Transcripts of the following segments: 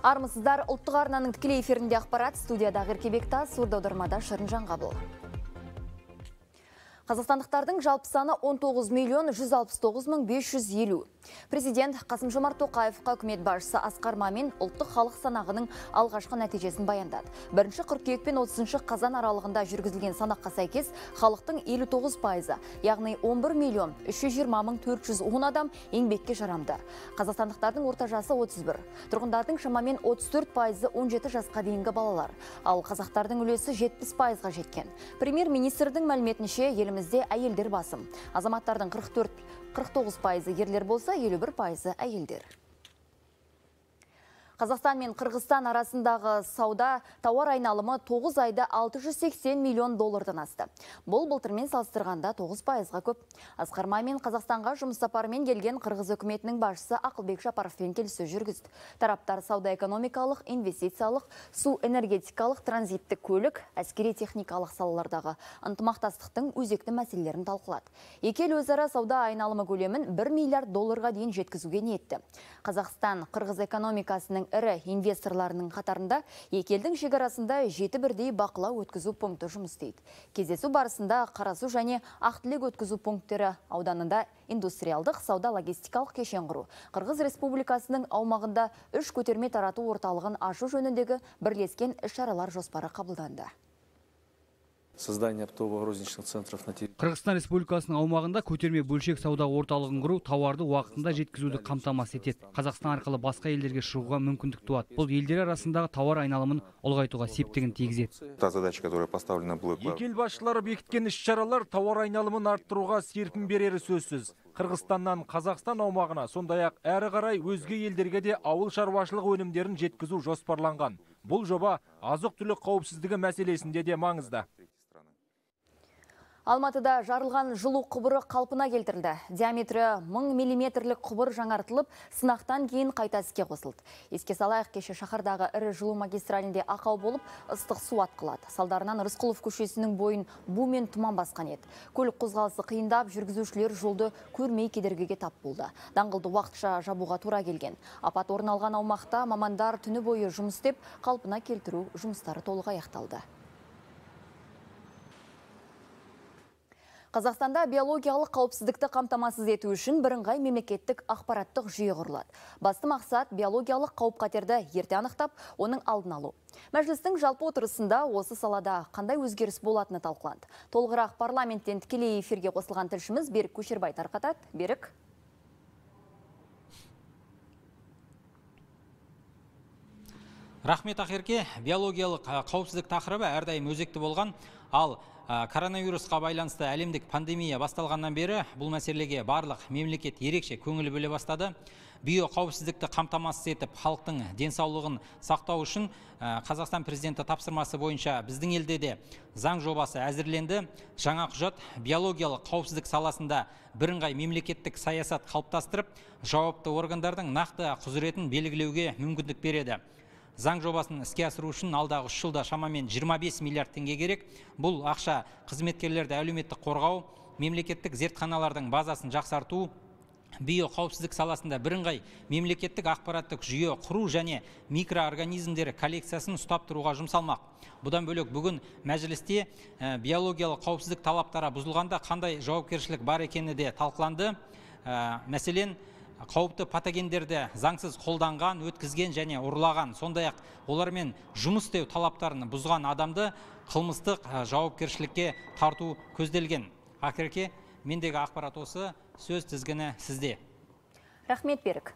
Армысыздар, ұлттық арнаның тікелей эфирінде ақпарат, студияда Ақерке Бектас, сурдаудармада Шырынжан Қабыл. Қазақстандықтардың жалпы саны 19.169.550. Президент Қасым-Жомарт Тоқаевқа үкімет басшысы Асқар Мамин ұлттық халық санағының алғашқы нәтижесін баяндады. 1 қыркүйек пен 30 қазан аралығында жүргізілген санаққа сәйкес халықтың 59%, яғни 11.320.410 адам еңбекке жарамды. Қазақстандықтардың орта жасы 31, тұрғындардың шамамен 34%, 17 жасқа дейінгі балалар, ал қазақтардың үлесі 70%-ға жеткен. Премьер-министрдің мәліметінше, елімізде әйелдер басым. Азаматтардың 49% ерлер болса, 51% әйелдер. Қазақстан мен Қырғызстан арасындағы сауда тауар айналымы 9 айда 680 миллион доллардан асты. Бұл былтырмен салыстырғанда 9%-ға көп. Асқар Мамин Қазақстанға жұмыс сапарымен келген Қырғыз үкіметінің басшысы Ақылбек Жапаровпен келіссөз жүргізді. Тараптар сауда-экономикалық, инвестициялық, су-энергетикалық, транзиттік көлік, әскери техникалық салалардағы ынтымақтастықтың өзекті мәселелерін талқылады. Екі ел өзара сауда айналымы көлемін 1 миллиард долларға дейін жеткізуге ниетті. Қазақстан Қырғыз экономикасының ірі инвесторларының қатарында екі елдің шекарасында 7 бірдей бақылау өткізу пункті жұмыс істейді. Кездесу барысында Қарасу және Ақтілек өткізу пункттері ауданында индустриалдық сауда-логистикалық кешен құру, Қырғыз Республикасының аумағында 3 көтерме тарату орталығын ашу жөніндегі бірлескен іс-шаралар жоспары қабылданды. Создание оптово-розничных центров на территории Қырғызстан Республикасының аумағында көтерме бөлшек сауда орталығын құру тауарды уақытында жеткізуді қамтамасыз етеді. Қазақстан арқылы басқа елдерге шығуға мүмкіндік туады. Бұл елдер арасындағы тауар айналымын ұлғайтуға септігін тигізеді. Та задача, которая поставлена была. Екі ел басшылары бекіткен іс-шаралар тауар айналымын арттыруға серпін берері сөзсіз. Қырғызстаннан Қазақстан аумағына, сондай-ақ әрі қарай өзге елдерге де ауыл шаруашылық өнімдерін жеткізу жоспарланған. Бұл жоба азық-түлік қауіпсіздігі мәселесінде де маңызды. Алматыда жарылған жылу құбыры қалпына келтірілді. Диаметрі 1000 миллиметрлік құбыр жаңартылып, сынақтан кейін қайта іске қосылды. Еске салайық, кеше шаһардағы ірі жылу магистралінде ақау болып, ыстық су атқылады. Салдарынан Рысқұлов көшесінің бойын бу мен тұман басқан еді. Көлік қозғалысы қиындап, жүргізушілер жолды көрмей кедергіге тап болды. Даңғылды уақытша жабуға тура келген. Апат орын алған аумақта мамандар түні бойы жұмыс істеп, қалпына келтіру жұмыстары толық аяқталды. Қазақстанда биологиялық қауіпсіздікті қамтамасыз ету үшін бірыңғай мемлекеттік ақпараттық жүйе құрылады. Басты мақсат биологиялық қауіп-қатерді ерте анықтап, оның алдын алу. Мәжілістің жалпы отырысында осы салада қандай өзгеріс болатыны талқыланды. Толығырақ парламенттен тікелей эфирге қосылған тілшіміз Берік Көшербай тарқатады. Берік. Рахмет, Ақерке. Биологиялық қауіпсіздік тақырыбы әрдайым өзекті болған, ал коронавирусқа байланысты әлемдік пандемия басталғаннан бері бұл мәселеге барлық мемлекет ерекше көңіл бөле бастады. Биоқауіпсіздікті қамтамасыз етіп, халықтың денсаулығын сақтау үшін Қазақстан президенті тапсырмасы бойынша біздің елде де заң жобасы әзірленді. Жаңа құжат биологиялық қауіпсіздік саласында бірыңғай мемлекеттік саясат қалыптастырып, жауапты органдардың нақты құзыретін белгілеуге мүмкіндік береді. Заң жобасын іске асыру үшін алдағы 3 жылда шамамен 25 миллиард теңге керек. Бұл ақша қызметкерлерді әлеуметтік қорғау, мемлекеттік зертханалардың базасын жақсарту, биоқауіпсіздік саласында бірыңғай мемлекеттік ақпараттық жүйе құру және микроорганизмдер коллекциясын ұстап тұруға жұмсалмақ. Бұдан бөлек бүгін мәжілісте биологиялық қауіпсіздік талаптары бұзылғанда қандай жауапкершілік бар екені де талқыланды. Мәселен, қауіпті патогендерді заңсыз қолданған, өткізген және ұрлаған, сондай-ақ олармен жұмыс істеу талаптарын бұзған адамды қылмыстық жауапкершілікке тарту көзделген. Ақерке, мендегі ақпарат осы, сөз тізгіні сізде. Рахмет, Берік.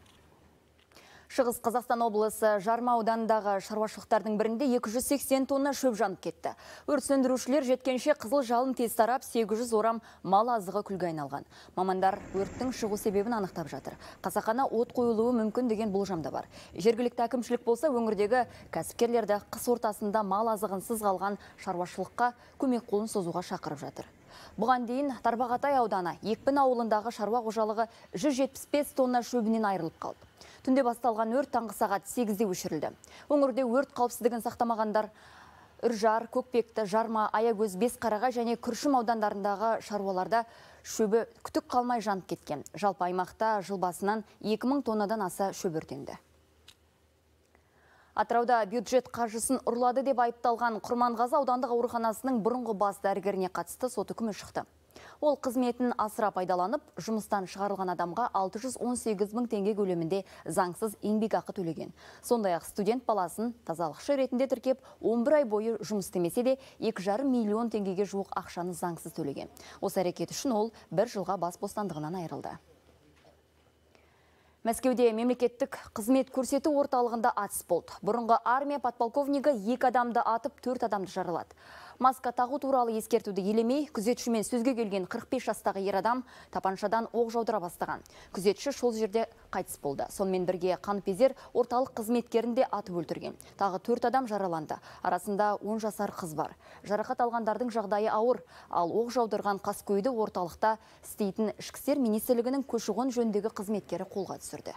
Шығыс Қазақстан облысы Жарма ауданындағы шаруашылықтардың бірінде 280 тонна шөп жанып кетті. Өрт сөндірушілер жеткенше қызыл жалын тез тарап, 800 орам мал азығы күлге айналған. Мамандар өрттің шығу себебін анықтап жатыр. Қасақана от қойылуы мүмкін деген болжамда бар. Жергілікті әкімшілік болса, өңірдегі кәсіпкерлерді қыс ортасында мал азығынсыз қалған шаруашылыққа көмек қолын созуға шақырып жатыр. Бұған дейін Тарбағатай ауданы Екпін ауылындағы шаруа қожалығы 175 тонна шөбінен айырылып қалды. Түнде басталған өрт таңғы сағат 8-де өшірілді. Өңірде өрт қауіпсіздігін сақтамағандар Үржар, Көкпекті, Жарма, Аягөз, Бесқараға және Күршім аудандарындағы шаруаларда шөбі күтік қалмай жанып кеткен. Жалпы аймақта жыл басынан 2000 тоннадан аса шөп өртенді. Атырауда бюджет қаржысын ұрлады деп айыпталған Құрманғазы аудандық ауруханасының бұрынғы бас дәрігеріне қатысты сот үкімі шықты. Ол қызметін асыра пайдаланып, жұмыстан шығарылған адамға 618 мың теңге көлемінде заңсыз еңбек ақы төлеген. Сондай-ақ студент баласын тазалықшы ретінде тіркеп, 11 ай бойы жұмыс істемесе де 2,5 миллион теңгеге жуық ақшаны заңсыз төлеген. Осы әрекет үшін ол 1 жылға бас бостандығынан айырылды. Мәскеуде мемлекеттік қызмет көрсету орталығында атыс болды. Бұрынғы армия подполковнигі 2 адамды атып, 4 адамды жаралады. Маска тағу туралы ескертуді елемей, күзетшімен сөзге келген 45 жастағы ер адам тапаншадан оқ жаудыра бастаған. Күзетші сол жерде қайтыс болды. Сонымен бірге қаныпезер орталық қызметкерін де атып өлтірген. Тағы 4 адам жараланды. Арасында 10 жасар қыз бар. Жарақат алғандардың жағдайы ауыр, ал оқ жаудырған қаскөйді орталықта істейтін ішкі істер министрлігінің көші-қон жөніндегі қызметкері қолға түсірді.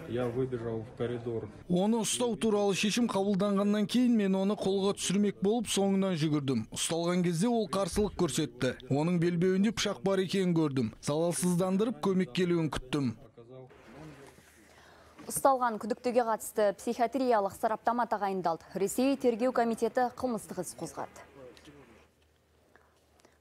Я выбежал в коридор. Оны ұстау туралы шешім қабылданғаннан кейін мен оны қолға түсірмек болып соңынан жүгірдім. Ұсталған кезде ол қарсылық көрсетті. Оның белбеуінде пышақ бар екенін көрдім. Залалсыздандырып көмек келуін күттім. Ұсталған күдіктіге қатысты психиатриялық сараптама тағайындалды. Ресей тергеу комитеті қылмыстық іс қозғады.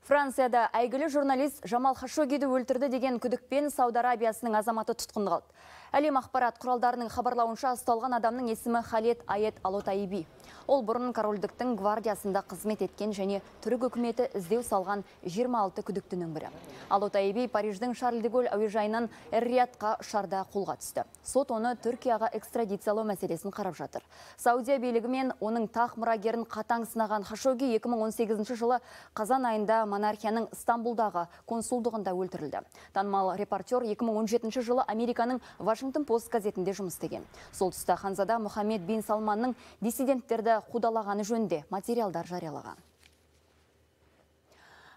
Францияда әйгілі журналист Жамал Хашоггиді өлтірді деген күдікпен Сауд Арабиясының азаматы тұтқынға алынды. Әлем ақпарат құралдарының хабарлауынша ұсталған адамның есімі Халед Айет Алотайби. Ол бұрын корольдіктің гвардиясында қызмет еткен және түрік үкіметі іздеу салған 26 күдіктінің бірі. Алотайби Париждің Шарль де Голль әуежайынан Эр-Риядқа ұшарда қолға түсті. Сот оны Түркияға экстрадициялау мәселесін қарап жатыр. Саудия билігі мен оның тақ мұрагерін қатаң сынаған Хашогги 2018 жылы қазан айында монархияның Стамбулдағы консулдығында өлтірілді. Танымал репортер 2017 жылы Американың Вашингтон Пост газетінде жұмыс істеген. Сол тұста ханзада Мұхаммед бин Салманның диссиденттерді қудалағаны жөнінде материалдар жариялаған.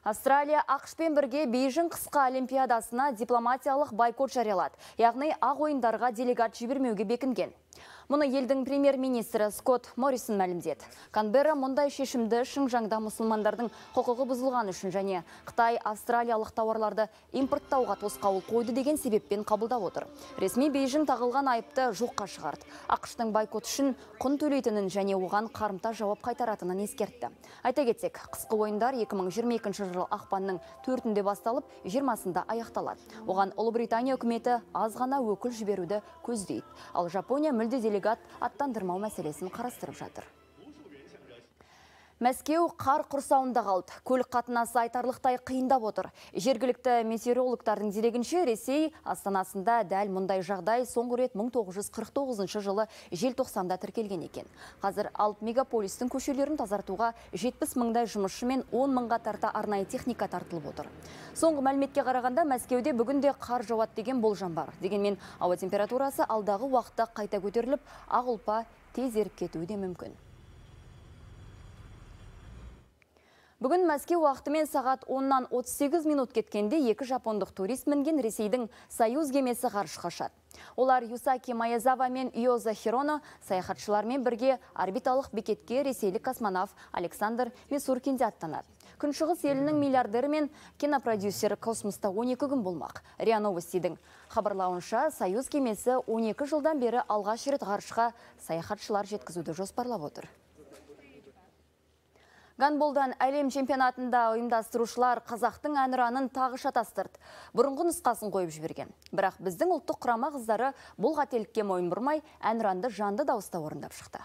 Австралия ақшпен бірге Бейжің қысқы олимпиадасына дипломатиялық бойкот жариялады. Яғни ақ ойындарға делегат жібермеуге бекінген. Мұны елдің премьер-министрі Скотт Моррисон мәлімдеді. Канберра мұндай шешімді Шыңжаңда мұсылмандардың құқығы бұзылған үшін және Қытай австралиялық тауарларды импорттауға тосқауыл қойды деген себеппен қабылдап отыр. Ресми Бейжің тағылған айыпты жоққа шығарды. ақш-тың бойкот үшін құн төлейтінін және оған қарымта жауап қайтаратынын ескертті. Айта кетсек, қысқы ойындар 2022 жылы ақпанның 4-інде басталып, 20-сында аяқталады. Оған Ұлыбритания үкіметі аз ғана өкіл жіберуді көздейді. Ал Жапония мүлде делегат аттандырмау мәселесін қарастырып жатыр. Мәскеу қар құрсауында қалды. Көлік қатынасы айтарлықтай қиындап отыр. Жергілікті метеорологтардың дерегінше Ресей астанасында дәл мұндай жағдай соңғы рет 1949 жылы желтоқсанда тіркелген екен. Қазір алып мегаполистің көшелерін тазартуға 70 мыңдай жұмысшы мен 10 мыңға тарта арнайы техника тартылып отыр. Соңғы мәліметке қарағанда Мәскеуде бүгінде қар жауады деген болжам бар. Дегенмен ауа температурасы алдағы уақытта қайта көтеріліп, ақ ұлпа тез еріп кетуі де мүмкін. Бүгін Мәскеу уақытымен сағат 10-нан 38 минут кеткенде 2 жапондық турист мінген Ресейдің Союз кемесі ғарышқа ұшады. Олар Юсаки Маязава мен Иоза Хироно саяхатшылармен бірге орбиталық бекетке ресейлік космонавт Александр Месуркинде аттанады. Күншығыс елінің миллиардері мен кинопродюсері космоста 12 күн болмақ. РИА Новостидің хабарлауынша Союз кемесі 12 жылдан бері алғаш рет ғарышқа саяхатшылар жеткізуді жоспарлап отыр. Гандболдан әлем чемпионатында ұйымдастырушылар қазақтың әнұранын тағы шатастырды. Бұрынғы нұсқасын қойып жіберген. Бірақ біздің ұлттық құрама қыздары бұл қателікке мойын бұрмай әнұранды жанды дауыста орындап шықты.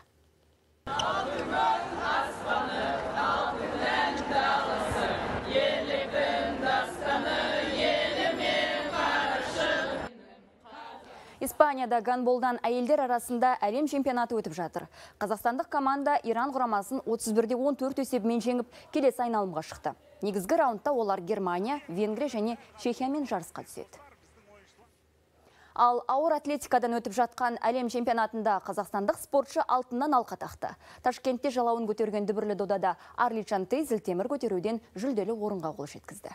Испанияда гандболдан әйелдер арасында әлем чемпионаты өтіп жатыр. Қазақстандық команда Иран құрамасын 31-14 есебімен жеңіп, келесі айналымға шықты. Негізгі раундта олар Германия, Венгрия және Чехиямен жарысқа түседі. Ал ауыр атлетикадан өтіп жатқан әлем чемпионатында қазақстандық спортшы алтыннан алқа тақты. Ташкентте жалауын көтерген дүбірлі додада Арличан Тей зілтемір көтеруден жүлделі орынға қол жеткізді.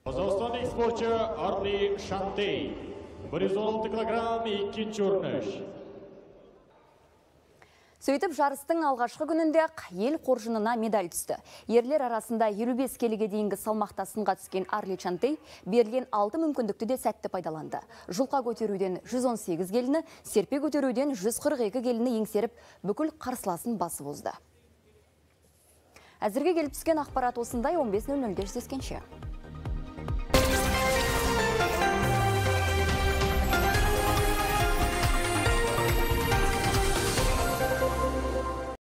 Қазақстандық спортшы Арличан Тей 116 килограмм 2 орныш. Сөйтіп жарыстың алғашқы күнінде ел қоржынына медаль түсті. Ерлер арасында 55 келіге дейінгі салмақта сынға түскен Арли Чантей берілген 6 мүмкіндікті де сәтті пайдаланды. Жұлқа көтеруден 118 келіні, серпе көтеруден 142 келіні еңсеріп, бүкіл қарсыласын басып озды. Әзірге келіп түскен ақпарат осындай. 15:00-ге жүздескенше.